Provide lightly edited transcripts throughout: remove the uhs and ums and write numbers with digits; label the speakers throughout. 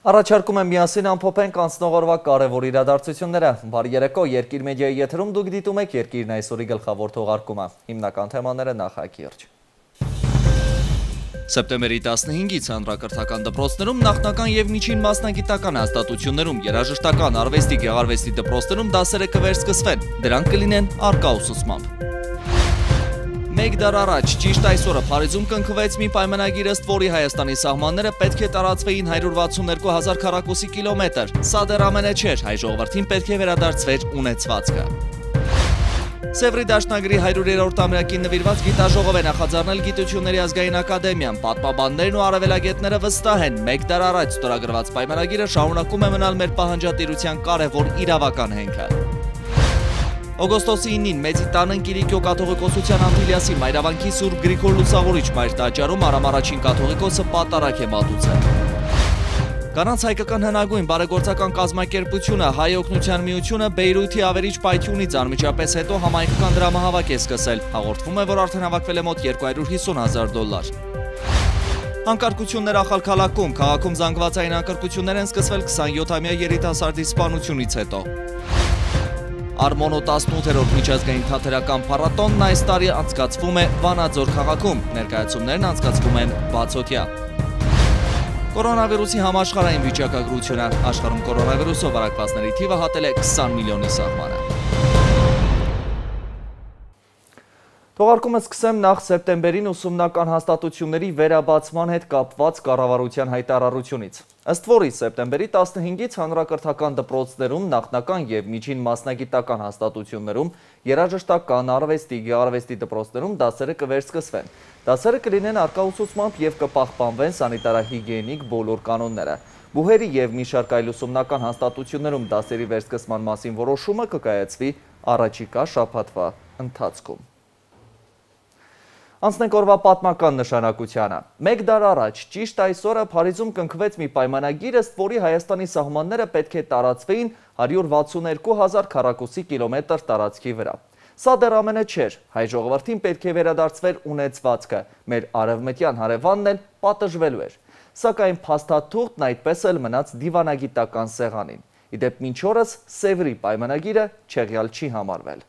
Speaker 1: Առաջարկում եմ միասին ամփոփենք անցնող օրվա կարևոր իրադարձությունները։ Բարի երեկո, Երկիր մեդիայի եթերում դուք դիտում եք Երկիրն այսօրի գլխավոր թողարկումը։ Հիմնական թեմաները նախակիրճ։ Սեպտեմբերի 15-ից հանրակրթական դպրոցներում նախնական և միջին մասնագիտական հաստատություններում, երաժշտական, արվեստի, գեղարվեստի դպրոցներում դասերը կվերսկսվեն, դրանք կլինեն առկա ուսուցմամբ։ Մեկ դար առաջ, ճիշտ այսօրը Փարիզում կնքվեց մի պայմանագիր, ըստ որի Հայաստանի սահմանները պետք է տարածվեին 162,000 քառակուսի կիլոմետր։ Սա դեռ ամենը չէր, հայ ժողովրդին պետք է վերադարձվեր ունեցվածքը։ Սևրի դաշնագրի 100-րդ ամյակին նվիրված գիտաժողով է նախաձեռնել Գիտությունների ազգային ակադեմիան։ Պատմաբաններն ու արևելագետները վստահ են, մեկ դար առաջ ստորագրված պայմանագիրը շարունակում է մնալ մեր պահանջատիրության կարևոր իրավական հենքը։ Օգոստոսի 9-ին Մեծի տան Կիրիկիո կաթողիկոսության Անտիլիասի Մայրավանքի Սուրբ Գրիգոր Լուսավորիչ մայր տաճարում Արամ առաջին կաթողիկոսը պատարագ է մատուցել։ Կանանց հայկական հնագույն բարեգործական կազմակերպությունը Հայ օգնության միությունը Բեյրութի ավերիչ պայթյունից անմիջապես հետո համայնքական դրամահավաք է սկսել։ Հաղորդվում է, որ արդեն հավաքվել է մոտ $250,000։ Անկարգություններ Ախալքալաքում, քաղաքում զանգվածային անկարգություններ են սկսվել 27-ամյա երիտասարդի սպանությունից հետո։ Արմոնո 18-րդ միջազգային թատերական փառատոնն այս տարի անցկացվում է Վանաձոր քաղաքում, ներկայացումներն անցկացվում են բացօթյա։ Կորոնավիրուսի համաշխարհային վիճակագրությունը, աշխարհում կորոնավիրուսով վարակվածների թիվը հատել է 20 միլիոնի սահմանը։ Թողարկումը սկսեմ նախ սեպտեմբերին ուսումնական հաստատությունների վերաբացման հետ կապված կառավարության հայտարարությունից։ Ըստ որի սեպտեմբերի 15-ից հանրակրթական դպրոցներում, նախնական և միջին մասնագիտական հաստատություններում, երաժշտական, արվեստի, գեղարվեստի դպրոցներում դասերը կվերսկսվեն։ Դասերը կլինեն առկա ուսուցմամբ և կպահպանվեն սանիտարահիգիենիկ բոլոր կանոնները։ Բուհերի և մի շարք այլ ուսումնական հաստատություններում դասերի վերսկսման մասին որոշումը կկայացվի առաջիկա շաբաթվա ընթացքում։ Անցնենք օրվա պատմական նշանակությանը։ Մեկ դար առաջ, ճիշտ այսօրը Փարիզում կնքվեց մի պայմանագիր, ըստ որի Հայաստանի սահմանները պետք է տարածվեին 162,000 քառակուսի կիլոմետր տարածքի վրա։ Սա դեռ ամենը չէր, հայ ժողովրդին պետք է վերադարձվեր ունեցվածքը, մեր արևմտյան հարևանն էլ պատժվելու էր։ Սակայն փաստաթուղթն այդպես էլ մնաց դիվանագիտական սեղանին։ Իդեպ մինչ օրս Սևրի պայմանագիրը չեղյալ չի համարվել։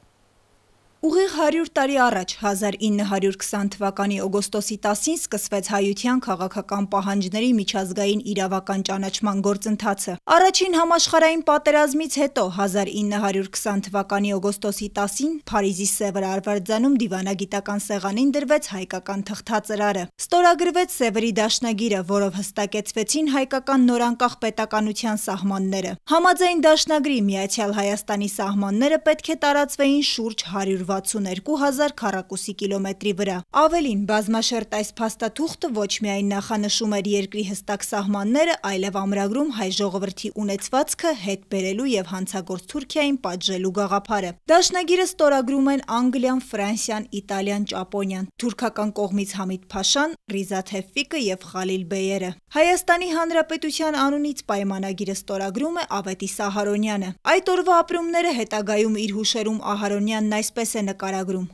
Speaker 2: Ուղիղ 100 տարի առաջ 1920 թվականի օգոստոսի 10-ին սկսվեց հայության քաղաքական պահանջների միջազգային իրավական ճանաչման գործընթացը։ Առաջին համաշխարհային պատերազմից հետո 1920 թվականի օգոստոսի 10-ին Փարիզի Սևր արվարձանում դիվանագիտական սեղանին դրվեց հայկական թղթածրարը։ Ստորագրվեց Սևրի դաշնագիրը, որով հստակեցվեցին հայկական նորանկախ պետականության սահմանները։ Համաձայն դաշնագրի Միացյալ Հայաստանի սահմանները պետք է տարածվեին շուրջ 162,000 քառակուսի կիլոմետրի վրա։ Ավելին, բազմաշերտ այս փաստաթուղթը ոչ միայն նախանշում էր երկրի հստակ սահմանները, այլև ամրագրում հայ ժողովրդի ունեցվածքը հետ բերելու և հանցագործ Թուրքիային պատժելու գաղափարը։ Դաշնագիրը ստորագրում են Անգլիան, Ֆրանսիան, Իտալիան, Ճապոնիան, թուրքական կողմից Համիդ Փաշան, Ռիզա Թևֆիկը և Խալիլ Բեյերը։ Հայաստանի Հանրապետության անունից պայմանագիրը ստորագրում է Ավետիս Ահարոնյանը։ Այդ օրվա ապրումները հետագայում իր հուշերում Ահարոնյանն այսպես է նկարագրում.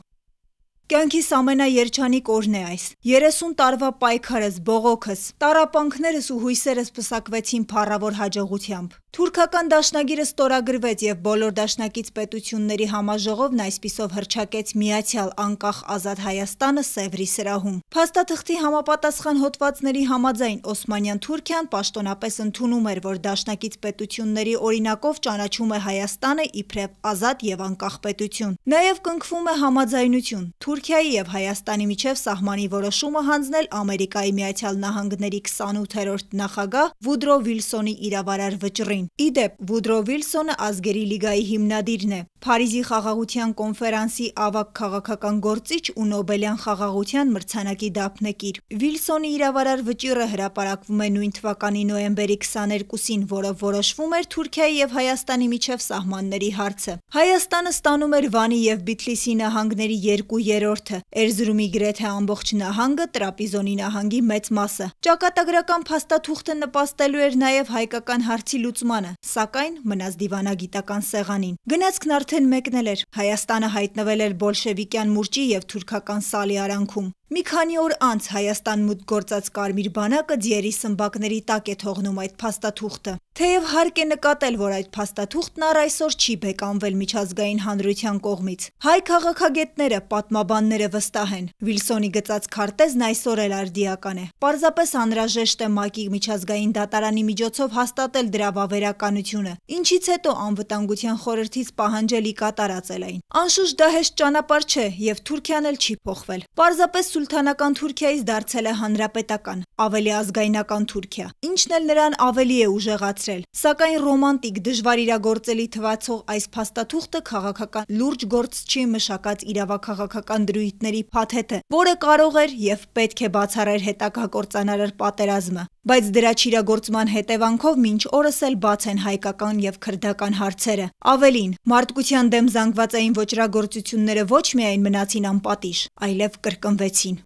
Speaker 2: Կյանքիս ամենաերջանիկ օրն է այս։ 30 տարվա պայքարս, բողոքս, տառապանքներս ու հույսերս պսակվեցին փառավոր հաջողությամբ։ Թուրքական դաշնագիրը ստորագրվեց և բոլոր դաշնակից պետությունների համաժողովն այսպիսով հռչակեց միացյալ անկախ ազատ Հայաստանը Սևրի սրահում։ Փաստաթղթի համապատասխան հոդվածների համաձայն Օսմանյան Թուրքիան պաշտոնապես ընդունում էր, որ դաշնակից պետությունների օրինակով ճանաչում է Հայաստանը իբրև ազատ և անկախ պետություն։ Նաև կնքվում է համաձայնություն Թուրքիայի և Հայաստանի միջև սահմանի որոշումը հանձնել Ամերիկայի Միացյալ Նահանգների 28-րդ նախագահ Վուդրո Վիլսոնի իրավարար վճռին։ Իդեպ, Վուդրո Վիլսոնը ազգերի լիգայի հիմնադիրն է, Փարիզի խաղաղության կոնֆերանսի ավագ քաղաքական գործիչ ու Նոբելյան խաղաղության մրցանակի դափնեկիր։ Վիլսոնի իրավարար վճիռը հրապարակվում է նույն թվականի նոյեմբերի 22-ին, որով որոշվում էր Թուրքիայի և Հայաստանի միջև սահմանների հարցը։ Հայաստանը ստանում էր Վանի և Բիթլիսի նահանգների 2/3-ը, Էրզրումի գրեթե ամբողջ նահանգը, Տրապիզոնի նահանգի մեծ մասը։ Ճակատագրական փաստաթուղթը նպաստելու էր նաև հայկական հարցի լուծմանը, սակայն մնաց դիվանագիտական սեղանին։ Գնացքն արդեն մեկնել էր։ Հայաստանը հայտնվել էր բոլշևիկյան մուրճի և թուրքական սալի արանքում։ Մի քանի օր անց Հայաստան մուտք գործած Կարմիր բանակը ձիերի սմբակների տակ է թողնում այդ փաստաթուղթը։ Թեև հարկ է նկատել, որ այդ փաստաթուղթն առ այսօր չի բեկանվել միջազգային հանրության կողմից։ Հայ քաղաքագետները, պատմաբանները վստահ են, Վիլսոնի գծած քարտեզն այսօր էլ արդիական է։ Պարզապես անհրաժեշտ է ՄԱԿ-ի միջազգային դատարանի միջոցով հաստատել դրա վավերականությունը, ինչից հետո անվտանգության խորհրդից պահանջել ի կատար ածել այն։ Անշուշտ դա հեշտ ճանապարհ չէ, եւ Թուրքիան էլ չի փոխվել։ Պարզապես սուլթանական Թուրքիայից դարձել է հանրապետական, ավելի ազգայնական Թուրքիա, ինչն էլ նրան ավելի է ուժեղացրել։ Սակայն ռոմանտիկ, դժվար իրագործելի թվացող այս փաստաթուղթը քաղաքական լուրջ գործչի մշակած իրավաքաղաքական դրույթների փաթեթ է, որը կարող էր եւ պետք է բացառեր հետագա կործանարար պատերազմը։ Բայց դրա չիրագործման հետևանքով մինչ օրս էլ բաց են հայկական եւ քրդական հարցերը։ Ավելին, մարդկության դեմ զանգվածային ոճրագործությունները ոչ միայն մնացին անպատիժ, այլև կրկնվեցին։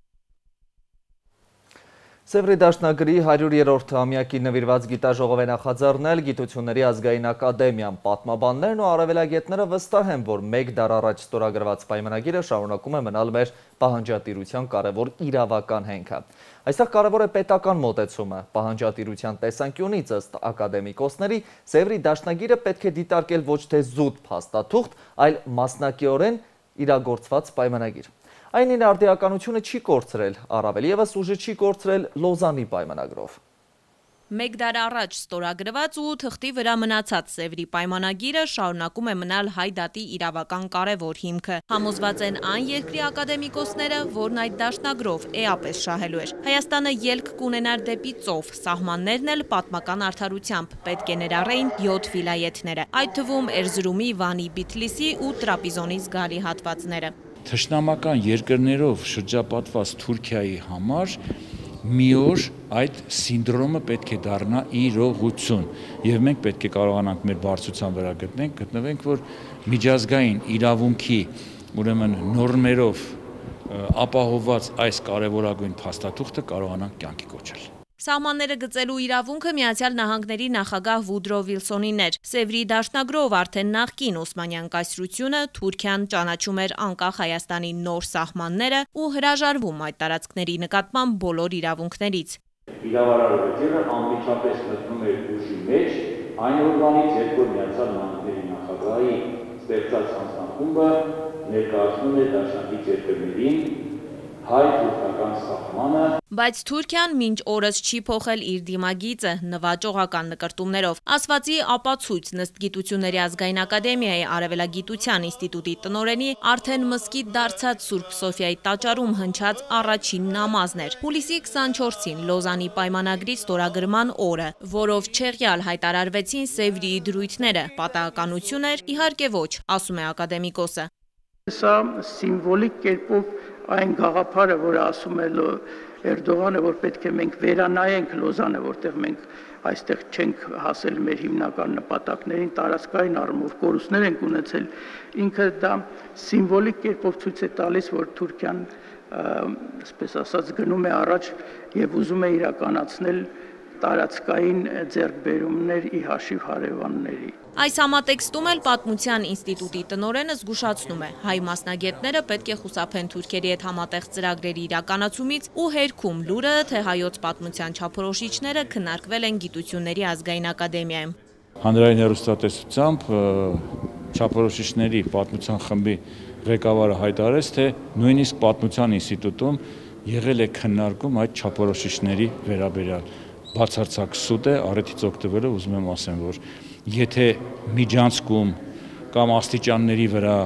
Speaker 1: Սևրի դաշնագրի 100-րդ ամյակի նվիրված գիտաժողով է նախաձեռնել Գիտությունների ազգային ակադեմիան։ Պատմաբաններն ու արևելագետները վստահ են, որ մեկ դար առաջ ստորագրված պայմանագիրը շարունակում է մնալ մեր պահանջատիրության կարևոր իրավական հենքը։ Այստեղ կարևոր է պետական մոտեցումը։ Պահանջատիրության տեսանկյունից ըստ ակադեմիկոսների Սևրի դաշնագիրը պետք է դիտարկել ոչ թե զուտ փաստաթուղթ, այլ մասնակիորեն իրագործված պայմանագիր։ Այն իր արդիականությունը չի կորցրել, առավել ևս ուժը չի կորցրել Լոզանի պայմանագրով։
Speaker 3: Մեկ դար առաջ ստորագրված ու թղթի վրա մնացած Սևրի պայմանագիրը շարունակում է մնալ հայ դատի իրավական կարևոր հիմքը։ Համոզված են այն երկրի ակադեմիկոսները, որն այդ դաշնագրով էապես շահելու էր։ Հայաստանը ելք կունենար դեպի ծով, սահմաններն էլ պատմական արդարությամբ պետք է ներառեին 7 վիլայեթները, այդ թվում Էրզրումի, Վանի, Բիթլիսի ու Տրապիզոնի զգալի հատվածները։
Speaker 4: Թշնամական երկրներով շրջապատված Թուրքիայի համար մի օր այդ սինդրոմը պետք է դառնա իրողություն եւ մենք պետք է կարողանանք մեր բարձրության վրա գտնվենք, որ միջազգային իրավունքի ուրեմն նորմերով ապահովված այս կարևորագույն փաստաթուղթը կարողանանք կյանքի կոչել։
Speaker 3: Սահմանները գծելու իրավունքը Միացյալ Նահանգների նախագահ Վուդրո Վիլսոնին էր։ Սևրի դաշնագրով արդեն նախկին Օսմանյան կայսրությունը Թուրքիան ճանաչում էր անկախ Հայաստանի նոր սահմանները ու հրաժարվում այդ տարածքների նկատմամբ բոլոր իրավունքներից։
Speaker 5: Իրավարարությունը անմիջապես մտնում էր ուժի մեջ, այն օրվանից, երբ որ Միացյալ Նահանգների նախագահի ստեղծած հանձնախումբը ներկայացնում է դաշնակից երկրներին հայ-թուրքական սահմանը։
Speaker 3: Բայց Թուրքիան մինչ օրս չի փոխել իր դիմագիծը նվաճողական նկրտումներով։ Ասվածի ապացույց ըստ Գիտությունների ազգային ակադեմիայի Արևելագիտության ինստիտուտի տնօրենի արդեն մզկիթ դարձած Սուրբ Սոֆիայի տաճարում հնչած առաջին նամազն էր։ Հուլիսի 24-ին Լոզանի պայմանագրի ստորագրման օրը, որով չեղյալ հայտարարվեցին Սևրի դրույթները։ Պատահականություն էր, իհարկե ոչ, ասում է ակադեմիկոսը։
Speaker 6: Սա սիմվոլիկ կերպով այն գաղափարը, որը ասում է Էրդողանը, որ պետք է մենք վերանայենք Լոզանը, որտեղ մենք այստեղ չենք հասել մեր հիմնական նպատակներին, տարածքային առումով կորուստներ ենք ունեցել, ինքը դա սիմվոլիկ կերպով ցույց է տալիս, որ Թուրքիան, այսպես ասած, գնում է առաջ եւ ուզում է իրականացնել տարածքային ձեռքբերումներ ի հաշիվ հարևանների։
Speaker 3: Այս համատեքստում էլ Պատմության ինստիտուտի տնօրենը զգուշացնում է, հայ մասնագետները պետք է խուսափեն թուրքերի հետ համատեղ ծրագրերի իրականացումից ու հերքում լուրը, թե հայոց պատմության չափորոշիչները քննարկվել են Գիտությունների ազգային ակադեմիայում։
Speaker 4: Հանրային հեռուստատեսությամբ չափորոշիչների պատմության խմբի ղեկավարը հայտարարեց, թե նույնիսկ Պատմության ինստիտուտում եղել է քննարկում այդ չափորոշիչների վերաբերյալ։ Բացարձակ սուտ է, առիթից օգտվելով ուզում եմ ասեմ, որ եթե միջանցքում կամ աստիճանների վրա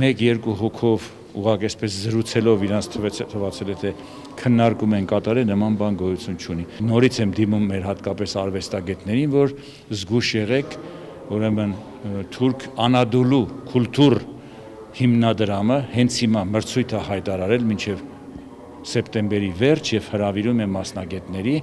Speaker 4: 1-2 հոգով ուղղակի այսպես զրուցելով իրանց թվացել է, թե քննարկում են կատարել, նման բան գոյություն չունի։ Նորից եմ դիմում մեր հատկապես արվեստագետներին, որ զգուշ եղեք, ուրեմն թուրք Անադոլու կուլտուր հիմնադրամը հենց հիմա մրցույթ է հայտարարել մինչև սեպտեմբերի վերջ եւ հրավիրում է մասնագետների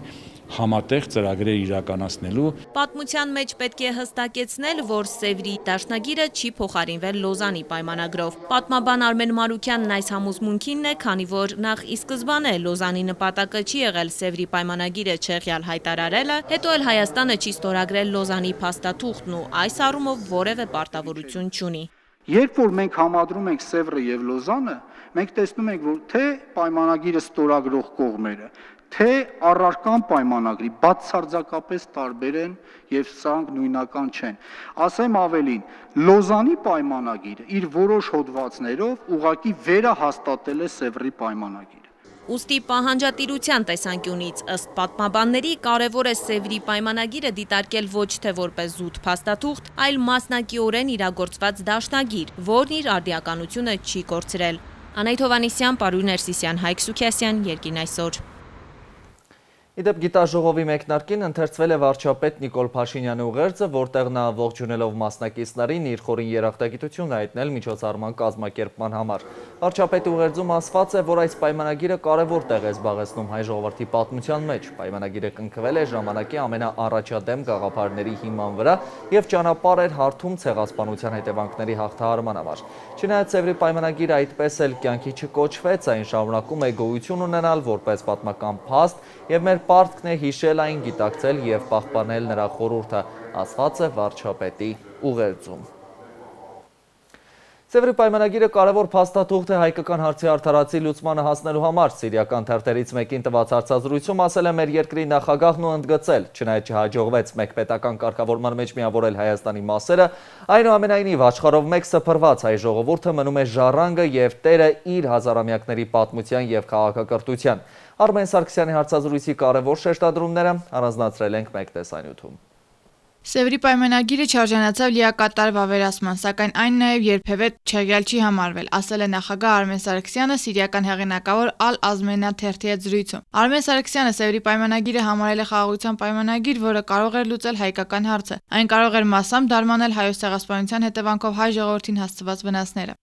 Speaker 4: համատեղ ծրագրեր իրականացնելու։
Speaker 3: Պատմության մեջ պետք է հստակեցնել, որ Սևրի դաշնագիրը չի փոխարինվել Լոզանի պայմանագրով։ Պատմաբան Արմեն Մարուկյանն այս համոզմունքինն է, քանի որ նախ ի սկզբանե Լոզանի նպատակը չի եղել Սևրի պայմանագիրը չեղյալ հայտարարելը, հետո էլ Հայաստանը չի ստորագրել Լոզանի փաստաթուղթն ու այս առումով որևէ պարտավորություն չունի։
Speaker 7: Երբ որ մենք համադրում ենք Սևրը եւ Լոզանը, Մենք տեսնում ենք, որ թե պայմանագիրը ստորագրող կողմերը, թե առարկան պայմանագրի բացարձակապես տարբեր են եւ սրանք նույնական չեն։ Ասեմ ավելին, Լոզանի պայմանագիրը իր որոշ հոդվածներով ուղղակի վերահաստատել է Սևրի պայմանագիրը։
Speaker 3: Ուստի պահանջատիրության տեսանկյունից ըստ պատմաբանների կարևոր է Սևրի պայմանագիրը դիտարկել ոչ թե որպես զուտ փաստաթուղթ, այլ մասնակիորեն իրագործված դաշնագիր, որն իր արդիականությունը չի կորցրել։ Անահիտ Հովհաննիսյան, Պարույր Ներսիսյան, Հայկ Սուքիասյան, Երկիրն այսօր։
Speaker 1: Իդեպ գիտաժողովի մեկնարկին ընթերցվել է վարչապետ Նիկոլ Փաշինյանի ուղերձը, որտեղ նա ողջունելով մասնակիցներին իր խորին երախտագիտությունն հայտնել միջոցառման կազմակերպման համար։ Վարչապետի ուղերձում ասված է, որ այս պայմանագիրը կարևոր տեղ է զբաղեցնում հայ ժողովրդի պատմության մեջ։ Պայմանագիրը կնքվել է ժամանակի ամենաառաջադեմ գաղափարների հիման վրա եւ ճանապարհ էր հարթում ցեղասպանության հետևանքների հաղթահարման համար։ Չնայած Սևրի պայմանագիրը այդպես էլ կյանքի չկոչվեց, այն շարունակում է գոյություն ունենալ որպես պատմական փաստ եւ մեր պարտքն է հիշել այն, գիտակցել եւ պահպանել նրա խորհուրդը, ասված է վարչապետի ուղերձում։ Սևրի պայմանագիրը կարևոր փաստաթուղթ է հայկական հարցի արդարացի լուծմանը հասնելու համար։ Սիրիական թերթերից մեկին տված հարցազրույցում ասել է մեր երկրի նախագահն ու ընդգծել, չնայած չհաջողվեց մեկ պետական կարգավորման մեջ միավորել Հայաստանի մասերը, այնուամենայնիվ աշխարհով մեկ սփռված հայ ժողովուրդը մնում է ժառանգը եւ տերը իր հազարամյակների պատմության եւ քաղաքակրթության։ Արմեն Սարգսյանի հարցազրույցի կարևոր շեշտադրումները առանձնացրել ենք մեկ տեսանյութում։
Speaker 8: Սևրի պայմանագիրը չարժանացավ լիակատար վավերացման, սակայն այն նաև երբևէ չեղյալ չի համարվել, ասել է նախագահ Արմեն Սարգսյանը սիրիական հեղինակավոր Ալ-Ազմենա թերթի հետ զրույցում։ Արմեն Սարգսյանը Սևրի պայմանագիրը համարել է խաղաղության պայմանագիր, որը կարող էր լուծել հայկական հարցը։ Այն կարող էր մասամբ դարմանել հայոց ցեղասպանության հետևանքով հայ ժողովրդին հասցված վնասները։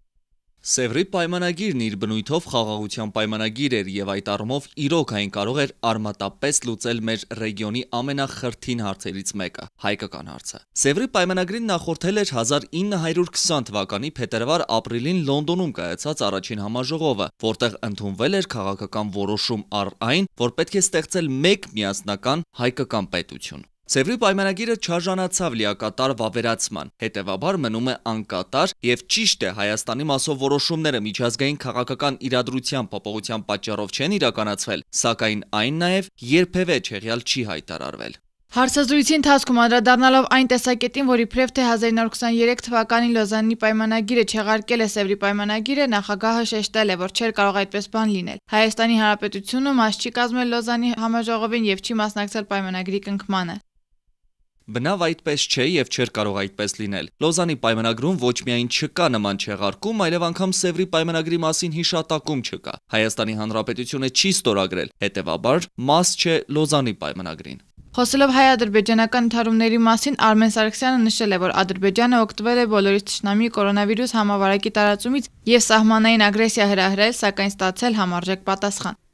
Speaker 1: Սևրի պայմանագիրն իր բնույթով խաղաղության պայմանագիր էր եւ այդ առումով իրոք այն կարող էր արմատապես լուծել մեր ռեգիոնի ամենախրթին հարցերից մեկը՝ հայկական հարցը։ Սևրի պայմանագրին նախորդել էր 1920 թվականի փետրվար-ապրիլին Լոնդոնում կայացած առաջին համաժողովը, որտեղ ընդունվել էր քաղաքական որոշում առ այն, որ պետք է ստեղծել մեկ միասնական հայկական պետություն։ Սևրի պայմանագիրը չարժանացավ լիակատար վավերացման, հետևաբար մնում է անկատար եւ ճիշտ է Հայաստանի մասով որոշումները միջազգային քաղաքական իրադրության փոփոխության պատճառով չեն իրականացվել, սակայն այն նաեւ երբևէ չեղյալ չի հայտարարվել։
Speaker 8: Հարցազրույցի ընթացքում անդրադառնալով այն տեսակետին, որ իբրև թե 1923 թվականին Լոզանի պայմանագիրը չեղարկել է Սևրի պայմանագիրը, նախագահը շեշտել է, որ չէր կարող այդպես բան լինել։ Հայաստանի Հանրապետությունը մաս չի կազմել Լոզանի համաժողովին եւ չի մասնակցել պայմանագրի կնքմանը։
Speaker 1: Բնավ այդպես չէ եւ չէր կարող այդպես լինել։ Լոզանի պայմանագրում ոչ միայն չկա նման չեղարկում, այլև անգամ Սևրի պայմանագրի մասին հիշատակում չկա։ Հայաստանի Հանրապետությունը չի ստորագրել, հետևաբար մաս չէ Լոզանի պայմանագրին։
Speaker 8: Խոսելով հայ-ադրբեջանական ընդհարումների մասին, Արմեն Սարգսյանը նշել է, որ Ադրբեջանը օգտվել է բոլորից թշնամի կորոնավիրուս համավարակի տարածումից եւ սահմանային ագրեսիա հրահրել, սակայն ստացել համարժեք պատասխան։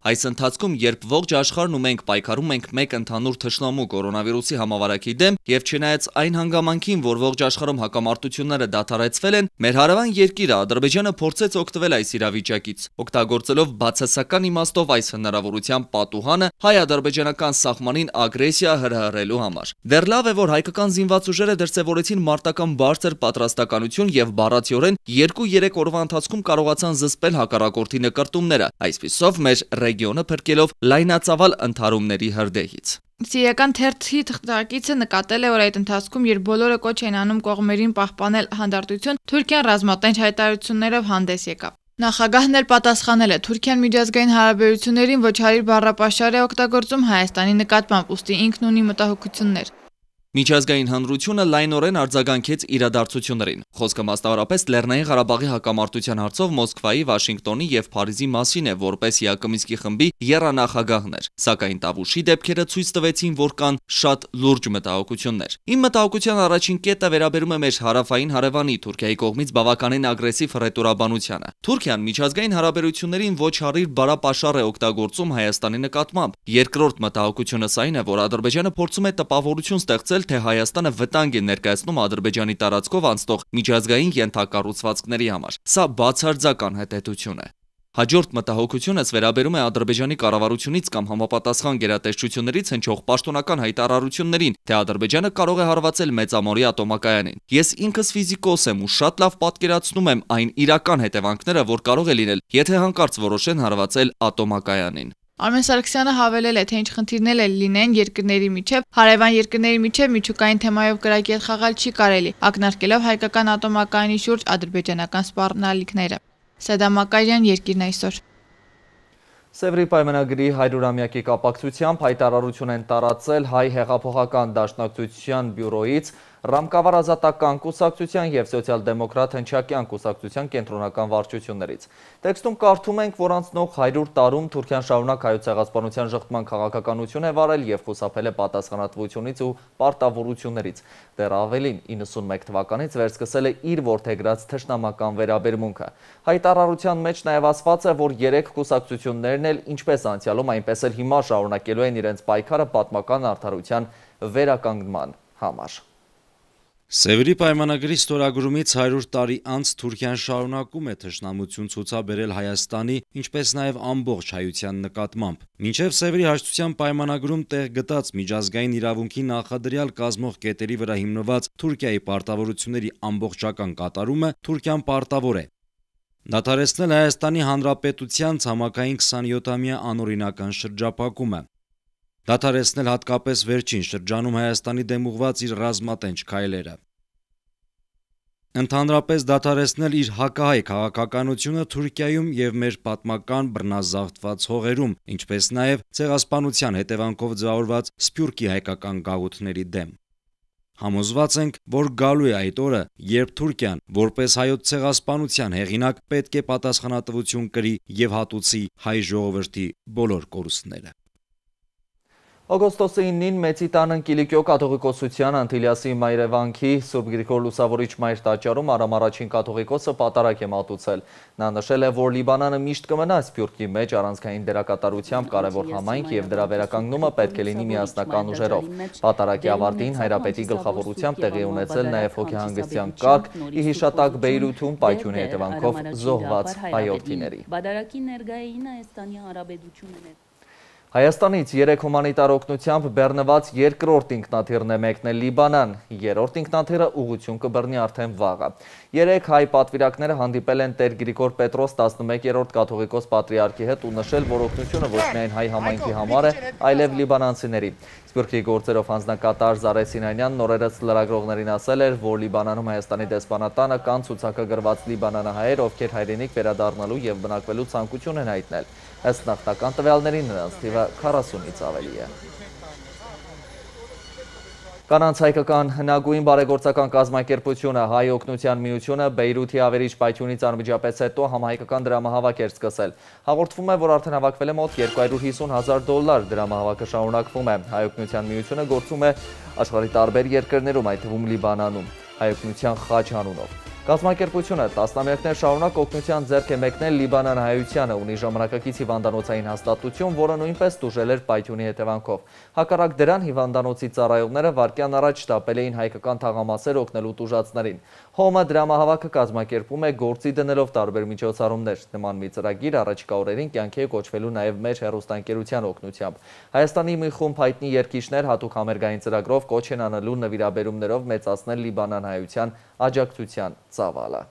Speaker 1: Այս ընթացքում, երբ ողջ աշխարհն ու մենք պայքարում ենք մեկ ընդհանուր թշնամու կորոնավիրուսի համավարակի դեմ, եւ չնայած այն հանգամանքին, որ ողջ աշխարհում հակամարտությունները դադարեցվել են, մեր հարևան երկիրը Ադրբեջանը փորձեց օգտվել այս իրավիճակից, օգտագործելով բացասական իմաստով այս հնարավորության պատուհանը հայ-ադրբեջանական սահմանին ագրեսիա հրահրելու համար։ Դեռ լավ է, որ հայկական զինված ուժերը դրսևորեցին մարտական բարձր պատրաստականություն եւ բառացիորեն 2-3 օրվա ընթացքում կարողացան զսպել հակառակորդի նկարտումները, այսպիսով մեր ռեգիոնը փրկելով լայնածավալ ընդհարումների հրդեհից։
Speaker 8: Սիրիական թերթի թղթակիցը նկատել է, որ այդ ընթացքում, երբ բոլորը կոչ էին անում կողմերին պահպանել հանդարտություն, Թուրքիան ռազմատենչ հայտարարություններով հանդես եկավ։ Նախագահն էլ պատասխանել է. Թուրքիան միջազգային հարաբերություններին ոչ հարիր բառապաշար է օգտագործում Հայաստանի նկատմամբ, ուստի ինքն ունի մտահոգություններ։
Speaker 1: Միջազգային հանրությունը լայնորեն արձագանքեց իրադարձություններին։ Խոսքը մասնավորապես Լեռնային Ղարաբաղի հակամարտության հարցով Մոսկվայի, Վաշինգտոնի եւ Փարիզի մասին է, որպես ԵԱԿ-ի խմբի եռանախագահներ։ Սակայն Տավուշի դեպքերը ցույց տվեցին, որ կան շատ լուրջ մտահոգություններ։ Իմ մտահոգության առաջին կետը վերաբերում է մեր հարավային հարևանի Թուրքիայի կողմից բավականին ագրեսիվ ռետորաբանությանը։ Թուրքիան միջազգային հարաբերություններին ոչ հարիր բառապաշար է օգտագործում Հայաստանի նկատմամբ։ Երկրորդ մտահոգությունս այն է, որ Ադրբեջանը փորձում է տպավորություն ստեղծել, թե Հայաստանը վտանգ է ներկայացնում Ադրբեջանի տարածքով անցնող միջազգային ենթակառուցվածքների համար։ Սա բացարձակ անհետեթություն է։ Հաջորդ մտահոգությունս վերաբերում է Ադրբեջանի կառավարությունից կամ համապատասխան գերատեսչություններից հնչող պաշտոնական հայտարարություններին, թե Ադրբեջանը կարող է հարվածել մեծամորի ատոմակայանին։ Ես ինքս ֆիզիկոս եմ ու շատ լավ պատկերացնում եմ այն իրական հետևանքները, որ կարող է լինել, եթե հանկարծ որոշեն հարվածել ատոմակայանին։
Speaker 8: Արմեն Սարգսյանը հավելել է, թե ինչ խնդիրներ էլ լինեն երկրների միջև, հարևան երկրների միջև միջուկային թեմայով կրակի հետ խաղալ չի կարելի, ակնարկելով հայկական ատոմակայանի շուրջ ադրբեջանական սպառնալիքները։ Սեդամ Մակարյան, Երկիրն այսօր։
Speaker 1: Սևրի պայմանագրի 100-ամյակի կապակցությամբ հայտարարություն են տարածել Հայ հեղափոխական դաշնակցության բյուրոից, Ռամկավար ազատական կուսակցության և սոցիալ-դեմոկրատ հնչակյան կուսակցության կենտրոնական վարչություններից։ Տեքստում կարդում ենք, որ անցնող 100 տարում Թուրքիան շարունակ հայոց ցեղասպանության ժխտման քաղաքականություն է վարել և խուսափել է պատասխանատվությունից ու պարտավորություններից։ Դեռ ավելին, 91 թվականից վերսկսել է իր որդեգրած թշնամական վերաբերմունքը։ Հայտարարության մեջ նաև ասված է, որ 3 կուսակցություններն էլ ինչպես անցյալում, այնպես էլ հիմա շարունակելու են իրենց պայքարը պատմական արդարության վերականգնման համար։
Speaker 9: Սևրի պայմանագրի ստորագրումից 100 տարի անց Թուրքիան շարունակում է թշնամություն ցուցաբերել Հայաստանի, ինչպես նաև ամբողջ հայության նկատմամբ։ Մինչև Սևրի հաշտության պայմանագրում տեղ գտած միջազգային իրավունքի նախադրյալ կազմող կետերի վրա հիմնված Թուրքիայի պարտավորությունների ամբողջական կատարումը Թուրքիան պարտավոր է դադարեցնել Հայաստանի Հանրապետության ցամաքային 27-ամյա անօրինական շրջափակումը, դադարեցնել հատկապես վերջին շրջանում Հայաստանի դեմ ուղղված իր ռազմատենչ քայլերը, ընդհանրապես դադարեցնել իր հակահայ քաղաքականությունը Թուրքիայում և մեր պատմական բռնազավթված հողերում, ինչպես նաև ցեղասպանության հետևանքով ձևավորված սփյուռքի հայկական գաղութների դեմ։ Համոզված ենք, որ գալու է այդ օրը, երբ Թուրքիան, որպես հայոց ցեղասպանության հեղինակ, պետք է պատասխանատվություն կրի և հատուցի հայ ժողովրդի բոլոր կորուստները։
Speaker 1: Օգոստոսի 9-ին Մեծի տան Կիլիկիո կաթողիկոսության Անտիլիասի Մայրևանքի Սուրբ Գրիգոր Լուսավորիչ Մայր տաճարում Արամ առաջին կաթողիկոսը պատարագ է մատուցել։ Նա նշել է, որ Լիբանանը միշտ կմնա Սփյուռքի մեջ առանցքային դերակատարությամբ կարևոր համայնք և դրա վերականգնումը պետք է լինի միասնական ուժերով։ Պատարագի ավարտին հայրապետի գլխավորությամբ տեղի ունեցել նաև հոգեհանգստյան կարգ՝ ի հիշատակ Բեյրութում պայթյունի հետևանքով զոհված հայրենիների։ Հայաստանից 3 հումանիտար օգնությամբ բեռնված երկրորդ ինքնաթիռն է մեկնել Լիբանան, երրորդ ինքնաթիռը ուղղություն կբռնի արդեն վաղը։ 3 հայ պատվիրակները հանդիպել են Տեր Գրիգոր Պետրոս 11-րդ կաթողիկոս պատրիարքի հետ ու նշել, որ օգնությունը ոչ միայն հայ համայնքի համար է, այլև լիբանանցիների։ Սփյուռքի գործերով հանձնակատար Զարե Սինանյանն օրերս լրագրողներին ասել էր, որ Լիբանանում Հայաստանի դեսպանատանը կան ցուցակագրված լիբանանահայեր, ովքեր հայրենիք վերադառնալու և բնակվելու ցանկություն են հայտնել։ Ըստ նախնական տվյալների նրանց թիվը 40-ից ավելի է։ Կանանց հայկական հնագույն բարեգործական կազմակերպությունը Հայ օգնության միությունը Բեյրութի ավերիչ պայթյունից անմիջապես հետո համահայկական դրամահավաք էր սկսել։ Հաղորդվում է, որ արդեն հավաքվել է մոտ $250,000 դրամահավաքը շարունակվում է։ Հայ օգնության միությունը գործում է աշխարհի տարբեր երկրներում, այդ թվում Լիբանանում, Հայ օգնության խաչ անունով։ Կազմակերպությունը տասնամյակներ շարունակ օգնության ձեռք է մեկնել Լիբանան հայությանը, ունի ժամանակակից հիվանդանոցային հաստատություն, որը նույնպես տուժել էր պայթյունի հետևանքով։ Հակառակ դրան հիվանդանոցի ծառայողները վայրկյան առաջ շտապել էին հայկական թաղամասեր օգնելու տուժածներին։ ՀՕՄ-ը դրամահավաքը կազմակերպում է գործի դնելով տարբեր միջոցառումներ։ Նման մի ծրագիր առաջիկա օրերին կյանքի է կոչվելու նաև մեր հեռուստաընկերության օգնությամբ։ Հայաստանի մի խումբ հայտնի երգիչներ հատուկ համերգային ծրագրով կոչ են անելու նվիրաբերումներով մեծացնել Լիբանան հայության աջակցության ծավալը։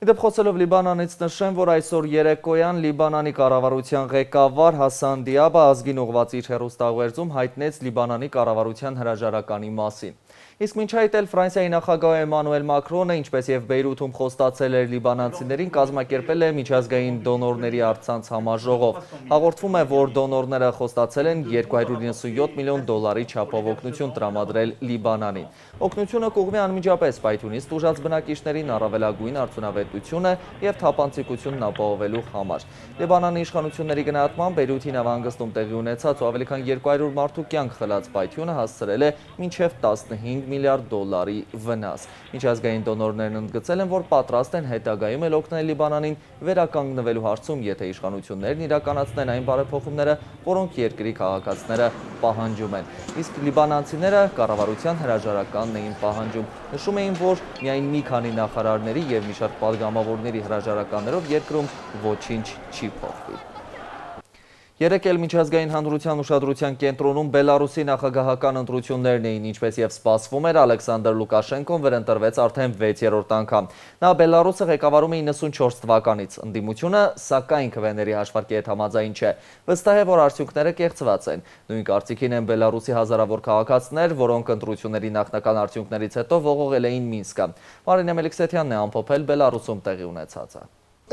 Speaker 1: Իդեպ խոսելով Լիբանանից նշեմ, որ այսօր երեկոյան Լիբանանի կառավարության ղեկավար Հասան Դիաբը ազգին ուղղված իր հեռուստաուղերձում հայտնեց Լիբանանի կառավարության հրաժարականի մասին։ Իսկ մինչ այդ էլ Ֆրանսիայի նախագահ Էմանուել Մակրոնը, ինչպես եւ Բեյրութում խոստացել էր լիբանանցիներին, կազմակերպել է միջազգային դոնորների առցանց համաժողով։ Հաղորդվում է, որ դոնորները խոստացել են $297 միլիոն չափով օգնություն տրամադրել Լիբանանին։ Օգնությունը կուղղվի անմիջապես պայթյունից տուժած բնակիչներին առավելագույն արդյունավետությունը եւ թափանցիկությունն ապահովելու համար։ Լիբանանի իշխանությունների գնահատմամբ Բեյրութի նավահանգստում տեղի ունեցած ու ավելի քան 200 մարդու կյանք խլած պայթյունը հասցրել է մինչև 15 5 միլիարդ դոլարի վնաս։ Միջազգային դոնորներն ընդգծել են, որ պատրաստ են հետագայում էլ օգնել Լիբանանին վերականգնվելու հարցում, եթե իշխանություններն իրականացնեն այն բարեփոխումները, որոնք երկրի քաղաքացիները պահանջում են։ Իսկ լիբանանցիները կառավարության հրաժարականն էին պահանջում։ Նշում էին, որ միայն մի քանի նախարարների և մի շարք պատգամավորների հրաժարականներով երկրում ոչինչ չի փոխվի։ Երեկ էլ միջազգային հանրության ուշադրության կենտրոնում Բելարուսի նախագահական ընտրություններն էին, ինչպես և սպասվում էր, Ալեքսանդր Լուկաշենկոն վերընտրվեց արդեն 6-րդ անգամ։ Նա Բելարուսը ղեկավարում է 94 թվականից։ Ընդդիմությունը, սակայն քվեների հաշվարկի հետ համաձայն չէ։ Վստահ է, որ արդյունքները կեղծված են։ Նույն կարծիքին են Բելարուսի հազարավոր քաղաքացիներ, որոնք ընտրությունների նախնական արդյունքներից հետո ողողել էին Մինսկը։ Մարինե Մելիքսեթյանն է ամփոփել Բելարուսում տեղի ունեցածը։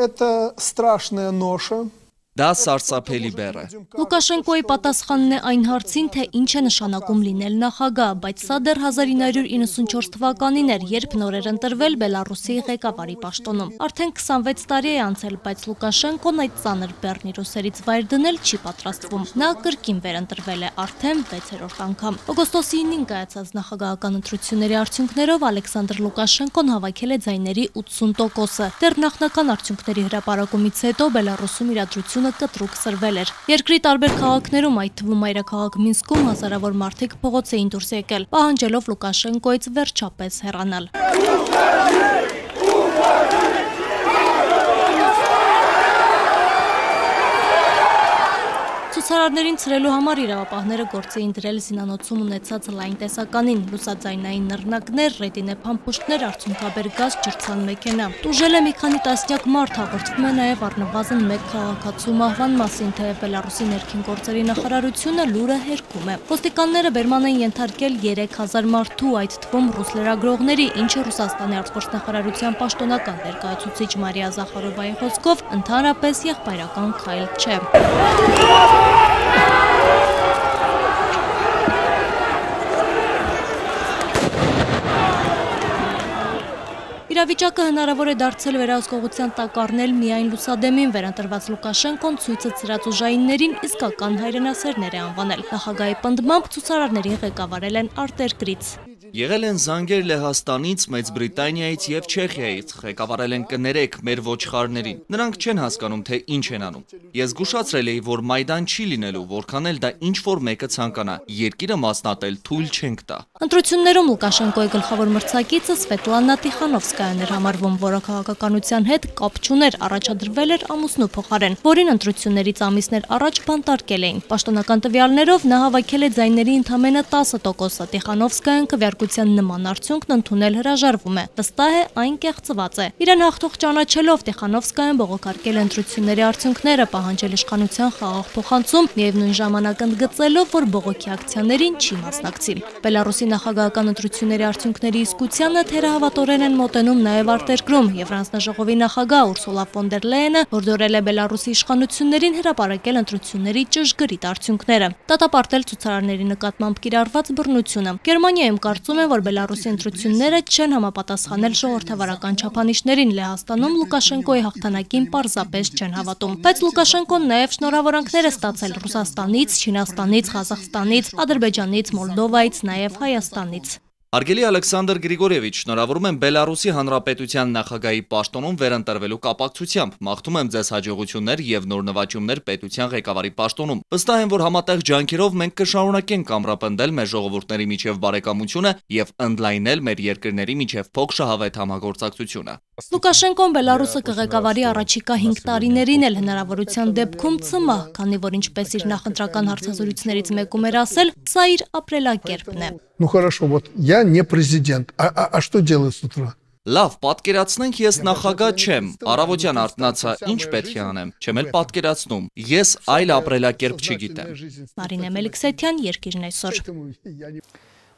Speaker 10: Это страшная ноша.
Speaker 1: Դա սարսափելի բեռ է։
Speaker 11: Լուկաշենկոյի պատասխանն է այն հարցին, թե ինչ է նշանակում լինել նախագահ, բայց սա դեռ 1994 թվականին էր, երբ նոր էր ընտրվել Բելարուսի ղեկավարի պաշտոնում։ Արդեն 26 տարի է անցել, բայց Լուկաշենկոն այդ ծանր բեռն իր ուսերից վայր դնել չի պատրաստվում։ Նա կրկին վերընտրվել է արդեն 6-րդ անգամ։ Օգոստոսի 9-ին կայացած նախագահական ընտրությունների արդյունքներով Ալեքսանդր Լուկաշենկոն հավաքել է ձայների 80%-ը։ Դեռ նախնական արդյունքների հրապարակումից հետո Բելարուսում իրադրությունը կտրուկ սրվել էր։ Երկրի տարբեր քաղաքներում, այդ թվում մայրաքաղաք Մինսկում, հազարավոր մարդիկ փողոց էին դուրս եկել, պահանջելով Լուկաշենկոյից վերջապես հեռանալ։ Ցուցարարներին ցրելու համար իրավապահները գործ էին դրել զինանոցում ունեցած լայն տեսականին, լուսաձայնային նռնակներ, ռետինե փամփուշտներ, արցունքաբեր գազ, ջրցան մեքենա։ Տուժել է մի քանի տասնյակ մարդ, հաղորդվում է նաև առնվազն 1 քաղաքացու մահվան մասին, թեև Բելարուսի ներքին գործերի նախարարությունը լուրը հերքում է։ Ոստիկանները բերման են ենթարկել 3000 մարդու, այդ թվում ռուս լրագրողների, ինչը Ռուսաստանի արտգործնախարարության պաշտոնական ներկայացուցիչ Մարիա Զախարովայի խոսքով ընդհանրապես եղբայրական քայլ չէ։ Իրավիճակը հնարավոր է դարձել վերահսկողության տակ առնել միայն լուսադեմին, վերընտրված Լուկաշենկոն ցույցը ծրած ուժայիններին իսկական հայրենասերներ է անվանել։ Նախագահի պնդմամբ ցուցարարներին ղեկավարել են արտերկրից։
Speaker 1: Եղել են զանգեր Լեհաստանից, Մեծ Բրիտանիայից և Չեխիայից, ղեկավարել են կներեք մեր ոչխարներին։ Նրանք չեն հասկանում, թե ինչ են անում։ Ես զգուշացրել էի, որ Մայդան չի լինելու, որքան էլ դա ինչ-որ մեկը ցանկանա։ Երկիրը մասնատել թույլ չենք տա։
Speaker 11: Ընտրություններում Լուկաշենկոյի գլխավոր մրցակիցը Սվետլանա Տիխանովսկայան էր համարվում, որը քաղաքականության հետ կապ չուներ, առաջադրվել էր ամուսնու փոխարեն, որին ընտրություններից ամիսներ առաջ բանտարկել էին։ Պաշտոնական տվյալներով նա հավաքել է ձայների ընդամենը 10%-ը, Տիխանովսկայան քվեարկության նման արդյունքն ընդունել հրաժարվում է։ Վստահ է, այն կեղծված է։ Իրեն հաղթող ճանաչելով Տիխանովսկայան բողոքարկել ընտրությունների արդյունքները, պահանջել իշխանության խաղաղ փոխանցում, միևնույն ժամանակ ընդգծելով, որ բողոքի ակցիաներին չի մասնակցի։ Բելարուսի նախագահական ընտրությունների արդյունքների իսկությանը թերահավատորեն են մոտենում նաև արտերկրում։ Եվրանձնաժողովի նախագահ Ուրսուլա ֆոն դեր Լեյենը հորդորել է Բելարուսի իշխանություններին հրապարակել ընտրությունների ճշգրիտ արդյունքները, դատապարտել ցուցարարների նկատմամբ կիրառված բռնությունը։ Գերմանիայում կարծում են, որ Բելարուսի ընտրությունները չեն համապատասխանել ժողովրդավարական չափանիշներին, Լեհաստանում Լուկաշենկոյի հաղթանակին պարզապես չեն հավատում։ Բայց Լուկաշենկոն նաև շնորհավորանքներ է ստացել Ռուսաստանից, Չինաստանից, Ղազախստանից, Ադրբեջանից, Մոլդովայից, նաև Հայաստանից։
Speaker 1: Արգելի Ալեքսանդր Գրիգորևիչ, շնորհավորում եմ Բելարուսի Հանրապետության նախագահի պաշտոնում վերընտրվելու կապակցությամբ։ Մաղթում եմ ձեզ հաջողություններ և նոր նվաճումներ պետության ղեկավարի պաշտոնում։ Վստահ եմ, որ համատեղ ջանքերով մենք կշարունակենք ամրապնդել մեր ժողովուրդների միջև բարեկամությունը և ընդլայնել մեր երկրների միջև փոխշահավետ համագործակցությունը։
Speaker 11: Լուկաշենկոն Բելարուսը կղեկավարի առաջիկա 5 տարիներին էլ հնարավորության դեպքում ցմահ, քանի որ ինչպես իր նախընտրական հարցազրույցներից մեկում էր ասել, սա իր ապրելակերպն է։
Speaker 10: Ну хорошо, вот я не президент. А что делаю с утра?
Speaker 1: Լավ, պատկերացնենք ես նախագահ չեմ, առավոտյան արթնացա, ինչ պետք է անեմ, չեմ էլ պատկերացնում, ես այլ ապրելակերպ չգիտեմ։
Speaker 11: Մարինե Մելիքսեթյան, Երկիրն այսօր։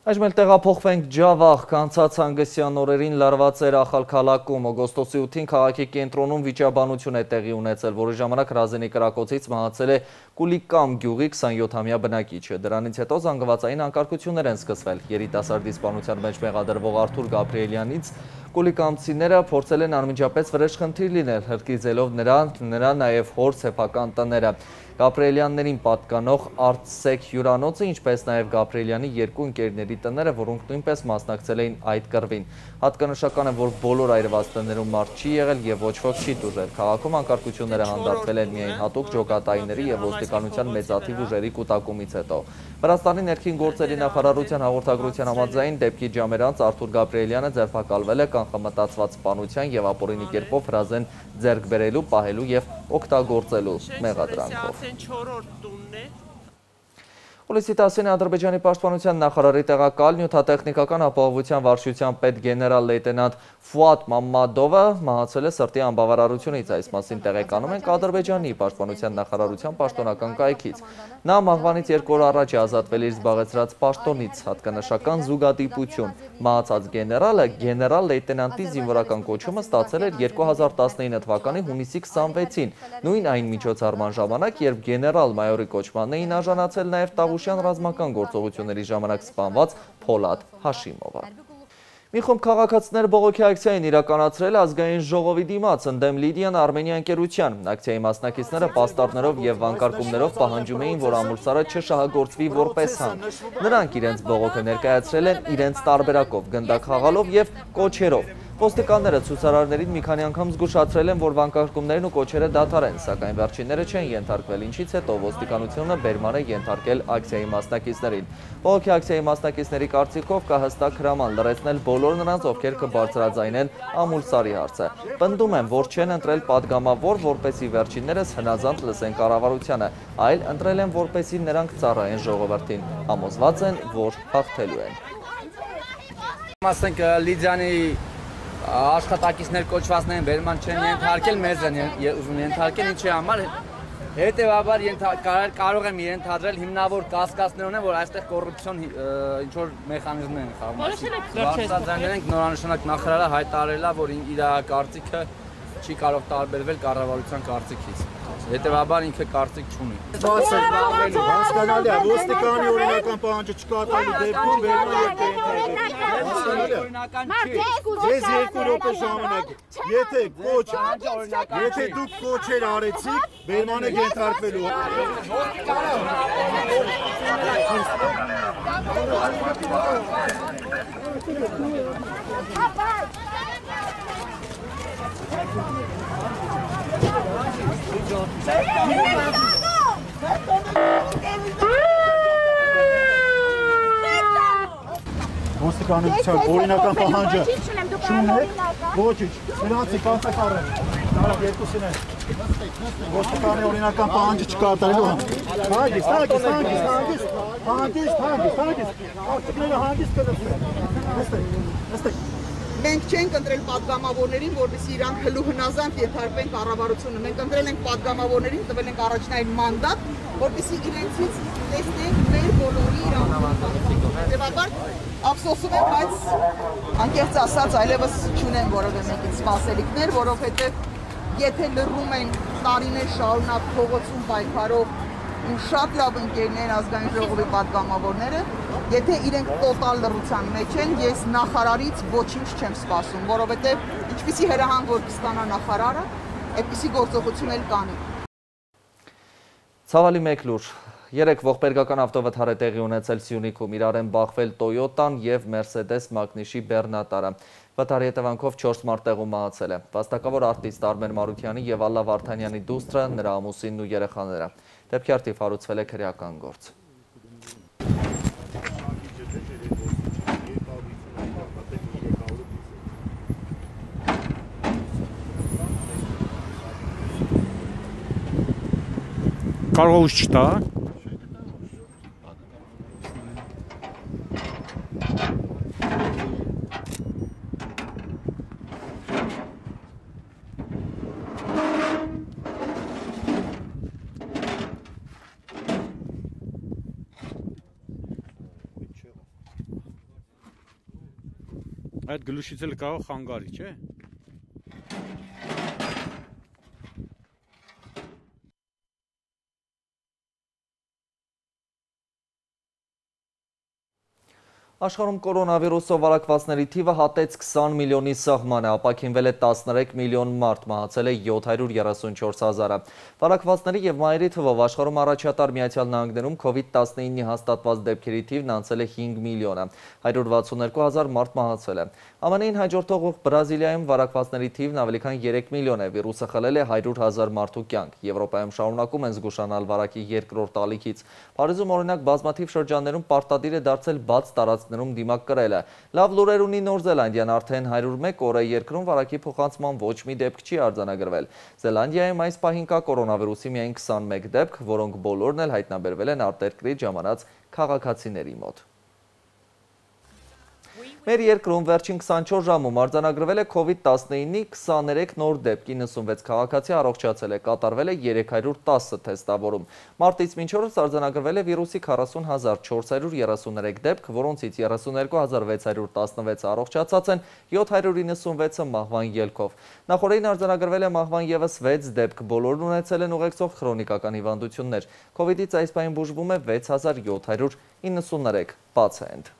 Speaker 1: Այժմ էլ տեղափոխվենք Ջավախ, կանցած հանգստյան օրերին լարված էր Ախալքալաքում, օգոստոսի 8-ին քաղաքի կենտրոնում վիճաբանություն է տեղի ունեցել, որի ժամանակ հրազենի կրակոցից մահացել է Կուլիկամ գյուղի 27-ամյա բնակիչը։ Դրանից հետո զանգվածային անկարգություններ են սկսվել։ Երիտասարդի սպանության մեջ մեղադրվող Արթուր Գաբրիելյանից կուլիկամցիները փորձել են անմիջապես վրեժխնդիր լինել, հրկիզելով նրա նաև հոր սեփական տները։ Գաբրիելյաններին պատկանող Արցսեք հյուրանոցը, ինչպես նաև Գաբրիելյանի երկու ընկերների տները, որոնք նույնպես մասնակցել էին այդ կռվին։ Հատկանշական է, որ բոլոր այրված տներում մարդ չի եղել եւ ոչ ոք չի տուժել։ Քաղաքում անկարգությունները հանդարտվել են միայն հատուկ ջոկատայինների եւ ոստիկանության մեծաթիվ ուժերի կուտակումից հետո։ Վրաստանի ներքին գործերի նախարարության հաղորդագրության համաձայն դեպքի ժամեր անց Արթուր Գաբրիելյանը ձերբակալվել է կանխամտածված սպանության եւ ապօրինի կերպով հրազեն ձեռք բերելու, պահելու եւ օգտագործելու մեղադրանքով։ Հուլիսի 10-ին Ադրբեջանի պաշտպանության նախարարի տեղակալ նյութատեխնիկական ապահովության վարչության պետ գեներալ լեյտենանտ Ֆուադ Մամմադովը մահացել է սրտի անբավարարությունից։ Այս մասին տեղեկանում ենք Ադրբեջանի պաշտպանության նախարարության պաշտոնական կայքից։ Նա մահվանից 2 օր առաջ է ազատվել իր զբաղեցրած պաշտոնից, հատկանշական զուգադիպություն։ Մահացած գեներալը գեներալ լեյտենանտի զինվորական կոչումը ստացել էր 2019 թվականի հունիսի 26-ին, նույն այն միջոցառման ժամանակ, երբ գեներալ մայորի կոչմանն էին արժանացել նաև Տավուշյան ռազմական գործողությունների ժամանակ սպանված Փոլադ Հաշիմովը։ Մի խումբ քաղաքացիներ բողոքի ակցիա են իրականացրել ազգային ժողովի դիմաց ընդդեմ Լիդիան Արմենիա ընկերության։ Ակցիայի մասնակիցները պաստառներով եւ վանկարկումներով պահանջում էին, որ ամուրսարը չշահագործվի որպես հանք։ Նրանք իրենց բողոքը ներկայացրել են իրենց տարբերակով, գնդակ խաղալով եւ կոչերով։ Ոստիկանները ցուցարարներին մի քանի անգամ զգուշացրել են, որ վանկարկումներն ու կոչերը դադարեն, սակայն վերջինները չեն ենթարկվել, ինչից հետո ոստիկանությունը բերման է ենթարկել ակցիայի մասնակիցներին։ Բողոքի ակցիայի մասնակիցների կարծիքով կա հստակ հրաման լրացնել բոլոր նրանց, ովքեր կբարձրաձայնեն ամուլսարի հարցը։ Պնդում են, որ չեն ընտրել падգամավոր, որպեսզի վերջիններս հնազանդ լսեն կառավարությանը, այլ ընտրել են, որպեսզի նրանք ծառայեն ժողովրդին։ Համոզված են, որ հաղթելու են։
Speaker 12: Ասենք Լիդիանի աշխատակիցներ կոչվածներին բերման չեն ենթարկել, մեզ են ուզում ենթարկել, ինչի համար հետևաբար կարող եմ ենթադրել հիմնավոր կասկածներ ունեն, որ այստեղ կոռուպցիոն ինչ-որ մեխանիզմներ են խաղում։ Բարձրաձայնել ենք նորանշանակ նախարարը հայտարարել է, որ իր կարծիքը չի կարող տարբերվել կառավարության կարծիքից։ Հետևաբար ինքը կարծիք չունի։
Speaker 13: Հասկանալի է, ոստիկանի օրինական պահանջը չկատարելու դեպքում վերնա եւ Ձեզ 2 րոպե ժամանակ է։ Եթե դուք կոչեր արեցիք, վերման եք ենթարկվելու։ Ոստիկանության օրինական պահանջը չունեք, ոչինչ, նրանցի կանցակառ են, նարավ երկուսին են, ոստիկանի օրինական պահանջը չկատարելու հանգիստ, արտիկները հանգիստ կնստեք,
Speaker 14: Մենք չենք ընտրել падգամավորներին, որպեսզի իրանք հլու հնազանդ ենթարկվեն կառավարությունը։ Մենք ընտրել ենք падգամավորներին, տվել ենք առաջնային մանդատ, որպեսզի իրենցից տեսնենք մեր բոլորի իրավունքները։ Հետևաբար ափսոսում եմ, բայց անկեղծ ասած այլևս չունեմ որևէ մեկից սպասելիքներ, որովհետև եթե լռում են տարիներ շարունակ փողոցում պայքարող ու շատ լավ ընկերներ ազգային ժողովի падգամավորները, եթե իրենք տոտալ լռության մեջ են, ես նախարարից ոչինչ չեմ սպասում, որովհետև ինչպիսի հրահանգ որ կստանա նախարարը, այդպիսի գործողություն էլ կանի։
Speaker 1: Ցավալի մեկ լուր։ 3 ողբերգական ավտովթար է տեղի ունեցել Սյունիքում, իրար են բախվել Toyota-ն եւ Mercedes Magnus-ի բեռնատարը։ Վթարի հետևանքով 4 մարդ տեղում մահացել է։ Վաստակավոր արտիստ Արմեն Մարուկյանի եւ Ալլա Վարդանյանի դուստրը, նրա ամուսինն ու երեխաները։ Դեպքի արդիվ հարուցվել է քրեական գործ։
Speaker 15: Կարող ուշ չտա։ Այդ գլուշից էլ կարող խանգարի, չէ։
Speaker 1: Աշխարհում կորոնավիրուսով վարակվածների թիվը հատեց 20 միլիոնի սահմանը, ապաքինվել է 13 միլիոն մարդ, մահացել է 734 հազարը։ Վարակվածների և մահերի թվով աշխարհում առաջատար Միացյալ Նահանգներում COVID-19-ի հաստատված դեպքերի թիվն անցել է 5 միլիոնը, 162 հազար մարդ մահացել է։ ԱՄՆ-ին հաջորդող Բրազիլիայում վարակվածների թիվն ավելի քան 3 միլիոն է, վիրուսը խլել է 100 հազար մարդու կյանք։ Եվրոպայում շարունակում են զգուշանալ վարակի երկրորդ ալիքից։ Փարիզում օրինակ բազմաթիվ շրջաններում պարտադիր է դարձել բաց տարածքներում դիմակ կրելը։ Լավ լուրեր ունի Նոր Զելանդիան, արդեն 101 օր է երկրում վարակի փոխանցման ոչ մի դեպք չի արձանագրվել։ Զելանդիայում այս պահին կա կորոնավիրուսի միայն 21 դեպք, որոնք բոլորն էլ հայտնաբերվել են արտերկրից ժամանած քաղաքացիների մոտ։ Մեր երկրում վերջին 24 ժամում արձանագրվել է COVID-19-ի 23 նոր դեպք, 96 քաղաքացի առողջացել է, կատարվել է 310 թեստավորում։ Մարտից մինչ օրս արձանագրվել է վիրուսի 40433 դեպք, որոնցից 32616 առողջացած են, 796-ը մահվան ելքով։ Նախորդին արձանագրվել է մահվան ևս 6 դեպք, բոլորն ունեցել են ուղեկցող քրոնիկական հիվանդություններ։ COVID-ից այս պահին բուժվում է 6793 պացիենտ։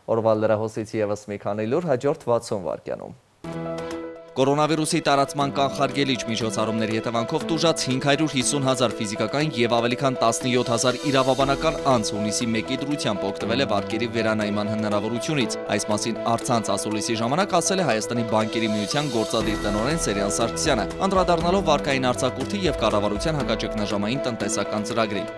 Speaker 1: Օրվա լրահոսից ևս մի քանի լուր հաջորդ 60 վայրկյանում։ Կորոնավիրուսի տարածման կանխարգելիչ միջոցառումների հետևանքով տուժած 550 հազար ֆիզիկական և ավելի քան 17 հազար իրավաբանական անձ հունիսի 1-ի դրությամբ օգտվել է վարկերի վերանայման հնարավորությունից։ Այս մասին առցանց ասուլիսի ժամանակ ասել է Հայաստանի բանկերի միության գործադիր տնօրեն Սերյան Սարգսյանը, անդրադառնալով վարկային արձակուրդի և կառավարության հակաճգնաժամային տնտեսական ծրագրին։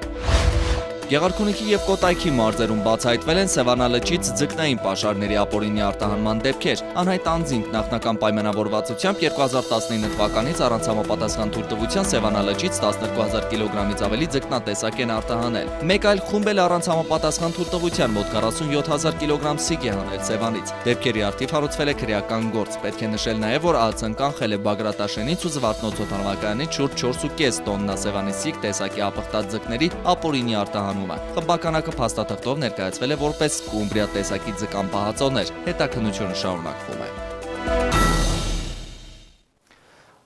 Speaker 1: Գեղարքունիքի և Կոտայքի մարզերում բացահայտվել են Սևանա լճից ձկնային պաշարների ապօրինի արտահանման դեպքեր։ Անհայտ անձինք նախնական պայմանավորվածությամբ 2019 թվականից առանց համապատասխան թույլտվության Սևանա լճից 12000 կիլոգրամից ավելի ձկնատեսակ են արտահանել։ Մեկ այլ խումբ էլ առանց համապատասխան թույլտվության մոտ 47000 կիլոգրամ սիկ է հանել Սևանից։ Դեպքերի առթիվ հարուցվել է քրեական գործ։ Պետք է նշել նաև, որ ԱՑ-ն կանխել է Բագրատաշենից ու Զվարթնոց օդանավակայանից շուրջ 4.5 տոննա Սևանի սիկ տեսակի ապխտած ձկների ապօրինի արտահանումը։ Խմբականակը փաստաթղթով ներկայացվել է որպես Կումբրիա տեսակի ձկան պահածոներ։ Հետաքննությունը շարունակվում է։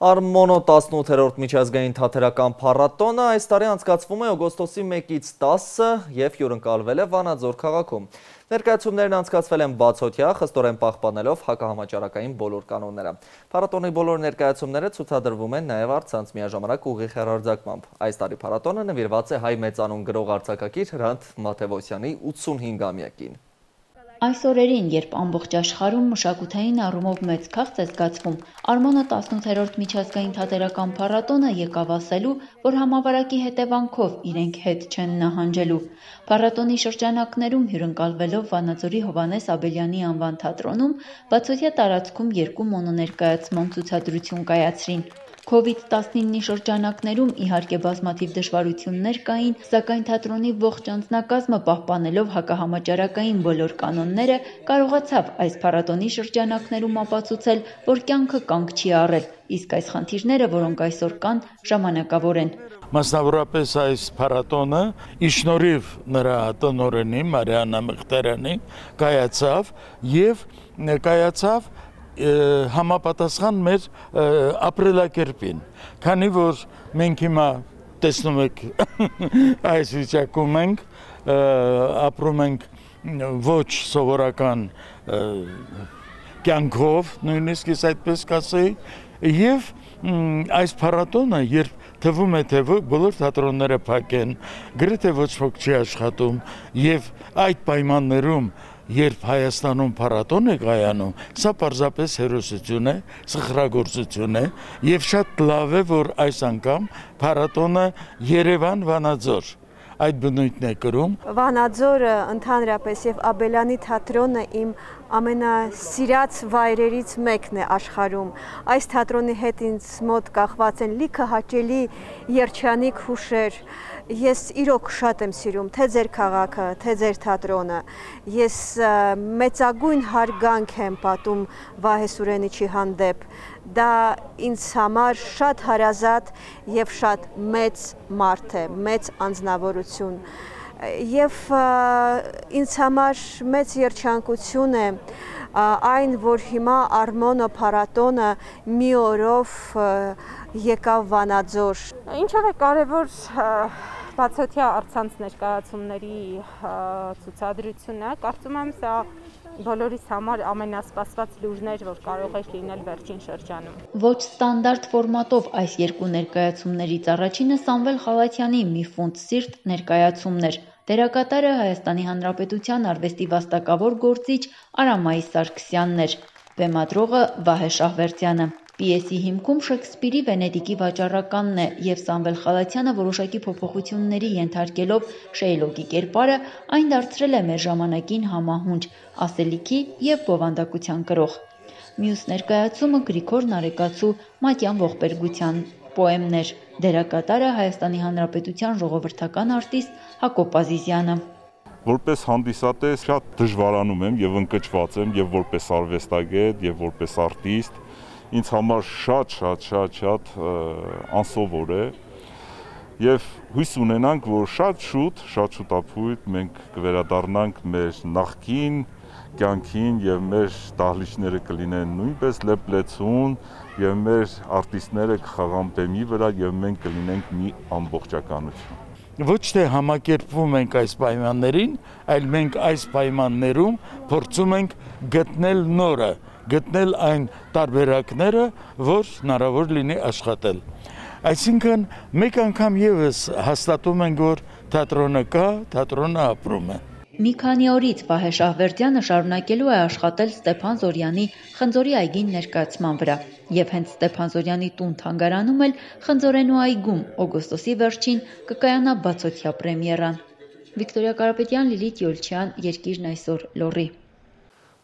Speaker 1: Արմոնո 18-րդ միջազգային թատերական փառատոնը այս տարի անցկացվում է օգոստոսի 1-ից 10-ը և հյուրընկալվել է Վանաձոր քաղաքում։ Ներկայացումներն անցկացվել են բացօթյա, խստորեն պահպանելով հակահամաճարակային բոլոր կանոնները։ Փառատոնի բոլոր ներկայացումները ցուցադրվում են նաև առցանց միաժամանակ ուղիղ հեռարձակմամբ։ Այս տարի փառատոնը նվիրված է հայ մեծանուն գրող արձակագիր Հրանտ Մաթևոսյանի 85-ամյակին։
Speaker 16: Այս օրերին, երբ ամբողջ աշխարհում մշակութային առումով մեծ քաղց է զգացվում, Արմոնո 18-րդ միջազգային թատերական փառատոնը եկավ ասելու, որ համավարակի հետևանքով իրենք հետ չեն նահանջելու։ Փառատոնի շրջանակներում հյուրընկալվելով Վանաձորի Հովհաննես Աբելյանի անվան թատրոնում, բացօթյա տարածքում 2 մոնոներկայացման ցուցադրություն կայացրին։ COVID-19-ի շրջանակներում իհարկե բազմաթիվ դժվարություններ կային, սակայն թատրոնի ողջ անձնակազմը պահպանելով հակահամաճարակային բոլոր կանոնները կարողացավ այս փառատոնի շրջանակներում ապացուցել, որ կյանքը կանգ չի առել, իսկ այս խնդիրները, որոնք այսօր կան, ժամանակավոր են։
Speaker 17: Մասնավորապես այս փառատոնը ի շնորհիվ նրա տնօրենի Մարիաննա Մղտարյանի կայացավ եւ կայացավ համապատասխան մեր ապրելակերպին, քանի որ մենք հիմա տեսնում եք այս վիճակում ենք, ապրում ենք ոչ սովորական կյանքով, նույնիսկ ես այդպես կասեի, եւ այս փառատոնը, երբ թվում է, թե բոլոր թատրոնները փակ են, գրեթե ոչ ոք չի աշխատում, եւ այդ պայմաններում երբ Հայաստանում փառատոն է կայանում, սա պարզապես հերոսություն է, սխրագործություն է եւ շատ լավ է, որ այս անգամ փառատոնը Երևան-Վանաձոր այդ բնույթն է կրում։
Speaker 18: Վանաձորը ընդհանրապես եւ Աբելյանի թատրոնը իմ ամենասիրած վայրերից մեկն է աշխարհում։ Այս թատրոնի հետ ինձ մոտ կախված են լիքը հաճելի երջանիկ հուշեր։ Ես իրոք շատ եմ սիրում թե ձեր քաղաքը, թե ձեր թատրոնը։ Ես մեծագույն հարգանք եմ պատում Վահե Սուրենիչի հանդեպ։ Դա ինձ համար շատ հարազատ եւ շատ մեծ մարդ է, մեծ անձնավորություն։ Եվ ինձ համար մեծ երջանկություն է այն, որ հիմա Արմոնո փառատոնը մի օրով եկավ Վանաձոր։ Ինչով է կարևոր
Speaker 19: բացօթյա առցանց ներկայացումների ցուցադրությունը, կարծում եմ սա բոլորիս համար ամենասպասված լուրն էր, որ կարող էր լինել վերջին շրջանում։
Speaker 16: Ոչ ստանդարտ ֆորմատով այս երկու ներկայացումներից առաջինը Սամվել Խալաթյանի «Մի ֆունտ սիրտ» ներկայացումն էր։ Դերակատարը Հայաստանի Հանրապետության արվեստի վաստակավոր գործիչ Արամայի Սարգսյանն էր, բեմադրողը Վահե Շահվերդյանը։ Պիեսի հիմքում Շեքսպիրի Վենետիկի վաճառականն է և Սամվել Խալաթյանը որոշակի փոփոխությունների ենթարկելով Շեյլոկի կերպարը այն դարձրել է մեր ժամանակին համահունչ, ասելիքի և բովանդակության կրող։ Մյուս ներկայացումը Գրիգոր Նարեկացու Մատյան ողբերգության պոեմն էր։ Դերակատարը Հայաստանի Հանրապետության ժողովրդական արտիստ Հակոբ Ազիզյանը։
Speaker 20: Որպես հանդիսատես շատ դժվարանում եմ և ընկճված եմ և որպես արվեստագետ և որպես արտիստ, ինձ համար շատ անսովոր է և հույս ունենանք, որ շատ շուտ ապույտ մենք կվերադառնանք մեր նախկին կյանքին և մեր դահլիճները կլինեն նույնպես լեփլեցուն և մեր արտիստները կխաղան բեմի վրա և մենք կլինենք մի ամբողջականություն։
Speaker 17: Ոչ թե համակերպվում ենք այս պայմաններին, այլ մենք այս պայմաններում փորձում ենք գտնել նորը, գտնել այն տարբերակները, որ հնարավոր լինի աշխատել։ Այսինքն մեկ անգամ ևս հաստատում ենք, որ թատրոնը կա, թատրոնը ապրում է։
Speaker 16: Մի քանի օրից Վահե Շահվերդյանը շարունակելու է աշխատել Ստեփան Զորյանի Խնձորի այգին ներկայացման վրա և հենց Ստեփան Զորյանի տուն-թանգարանում էլ Խնձորենու այգում օգոստոսի վերջին կկայանա բացօթյա պրեմիերան։ Վիկտորիա Կարապետյան, Լիլիթ Յոլչյան, Երկիրն այսօր, Լոռի։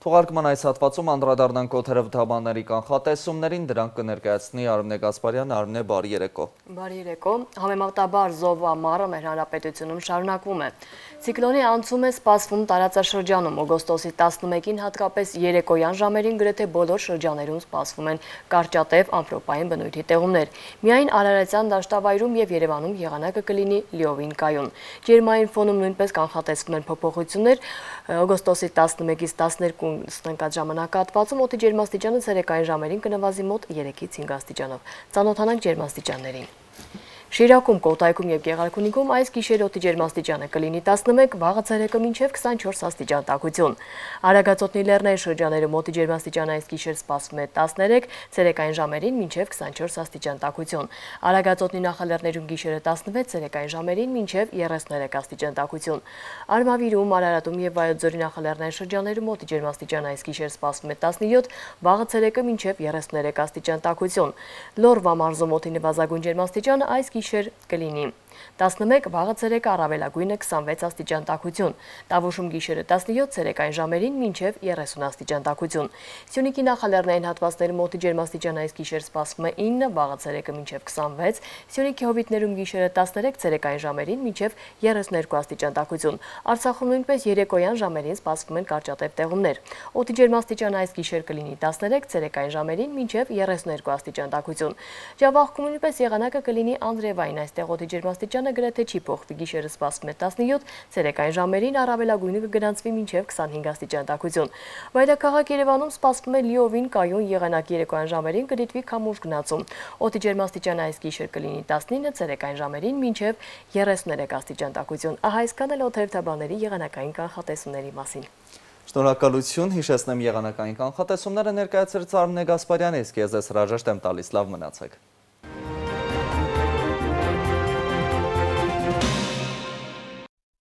Speaker 1: Թողարկման այս հատվածում անդրադառնանք օդերևութաբանների կանխատեսումներին, դրանք կներկայացնի Արմինե Գասպարյանը։ Արմինե, բարի երեկո։
Speaker 21: Բարի երեկո։ Համեմատաբար զով ամառը մեր հանրապետությունում շարունակվում է։ Ցիկլոնի անցում է սպասվում տարածաշրջանում, օգոստոսի 11-ին հատկապես երեկոյան ժամերին գրեթե բոլոր շրջաներում սպասվում են կարճատև ամպրոպային բնույթի տեղումներ։ Միայն Արարատյան դաշտավայրում և Երևանում եղանակը կլինի լիովին կայուն։ Ջերմային ֆոնում նույնպես կանխատեսվում են փոփոխություններ, օգոստոսի 11-ից 12 ընկած ժամանակահատվածում օդի ջերմաստիճանը ցերեկային ժամերին կնվազի մոտ 3-ից 5 աստիճանով։ Ծանոթանանք ջերմաստիճաններին։ Շիրակում, Կոտայքում և Գեղարքունիքում այս գիշեր օդի ջերմաստիճանը կլինի 11, վաղը ցերեկը մինչև 24 աստիճան տաքություն։ Արագածոտնի լեռնային շրջաներում օդի ջերմաստիճանը այս գիշեր սպասվում է 13, ցերեկային ժամերին մինչև 24 աստիճան տաքություն։ Արագածոտնի նախալեռներում գիշերը 16, ցերեկային ժամերին մինչև 33 աստիճան տաքություն։ Արմավիրում, Արարատում և Վայոց ձորի նախալեռնային շրջաներում օդի ջերմաստիճանը այս գիշեր սպասվում է 17, վաղը ցերեկը մինչև 33 աստիճան տաքություն։ Լոռվա մարզում օդի նվազագույն ջերմաստիճանը այս գիշեր կլինի 11, վաղը ցերեկը առավելագույնը 26 աստիճան տաքություն։ Տավուշում գիշերը 17, ցերեկային ժամերին մինչև 30 աստիճան տաքություն։ Սյունիքի նախալեռնային հատվածներում օդի ջերմաստիճանը այս գիշեր սպասվում է 9, վաղը ցերեկը մինչև 26, Սյունիքի հովիտներում գիշերը 13, ցերեկային ժամերին մինչև 32 աստիճան տաքություն։ Արցախում նույնպես երեկոյան ժամերին սպասվում են կարճատև տեղումներ։ Օդի ջերմաստիճանը այս գիշեր կլինի 13, ցերեկային ժամերին մինչև 32 աստիճան տաքություն։ Ջավախքում նույնպես եղանակը կլինի անձրևային, այստեղ օդի ջերմաստիճանը գրեթե չի փոխվի, գիշերը սպասվում է 17, ցերեկային ժամերին առավելագույնը կգրանցվի մինչև 25 աստիճան տաքություն։ Մայրաքաղաք Երևանում սպասվում է լիովին կայուն եղանակ, երեկոյան ժամերին կդիտվի քամուշ գնացում։ Օդի ջերմաստիճանը այս գիշեր կլինի 19, ցերեկային ժամերին մինչև 33 աստիճան տաքություն։ Ահա այսքան էլ օդերևութաբանների եղանակային կանխատեսումների մասին։
Speaker 1: Շնորհակալություն, հիշեցնեմ եղանակային կանխատեսումները ներկայացրեց Արմինե Գասպարյանը, իսկ ես հրաժեշտ եմ տալիս, լավ մնացեք։